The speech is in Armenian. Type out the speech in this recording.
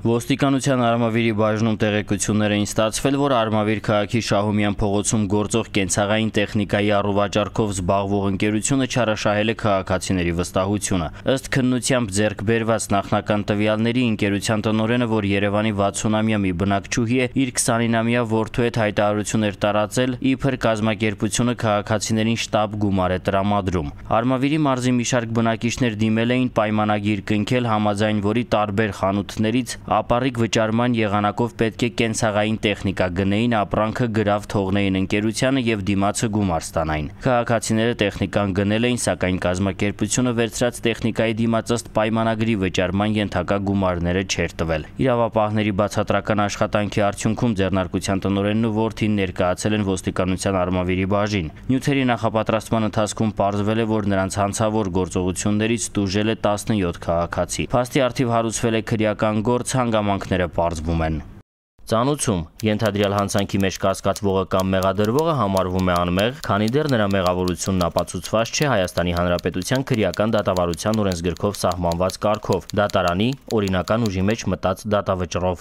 Ոստիկանության Արմավիրի բաժնում տեղեկություններ էին ստացվել, որ Արմավիր քաղաքի Շահումյան փողոցում գործող կենցաղային տեխնիկայի առուվաճառքով զբաղվող ընկերությունը չարաշահել է քաղաքացիների վստահությունը։ Ըստ քննությամբ ձեռք բերված նախնական տվյալների ընկերության տնօրենը, որ Երևանի 60-ամյա մի բնակչուհի է, իր 29-ամյա որդու հետ հայտարարություն էր տարածել, իբր կազմակերպությունը քաղաքացիներին շտապ գումար է տրամադրում։ Արմավիրի մարզի մի շարք բնակիչներ դիմել էին պայմանագիր կնքել, համաձայն որի տարբեր խանութներից ապառիկ վճարման եղանակով պետք է կենցաղային տեխնիկա գնեին, ապրանքը գրավ թողնեին ընկերությանը եւ դիմացը գումար ստանային։ Քաղաքացիները տեխնիկան գնել էին, սակայն կազմակերպությունը վերցրած տեխնիկայի դիմաց ըստ պայմանագրի վճարման ենթակա գումարները չէր տվել։ Իրավապահների բացատրական աշխատանքի արդյունքում ձեռնարկության տնօրենն ու որդին ներկայացել են ոստիկանության Արմավիրի բաժին։ Նյութերի նախապատրաստման ընթացքում պարզվել է, որ նրանց հանցավոր գործողություններից տուժել է 17 քաղաքացի։ Փաստի առթիվ հարուցվել է քրեական գործ, հանգամանքները պարզվում են։ Ծանուցում ենթադրյալ հանցանքի մեջ կասկածվողը կամ մեղադրվողը համարվում է անմեղ, քանի դեռ նրա մեղավորությունն ապացուցված չէ Հայաստանի Հանրապետության քրեական դատավարության օրենսգրքով սահմանված կարգով՝ դատարանի օրինական ուժի մեջ մտած դատավճռով։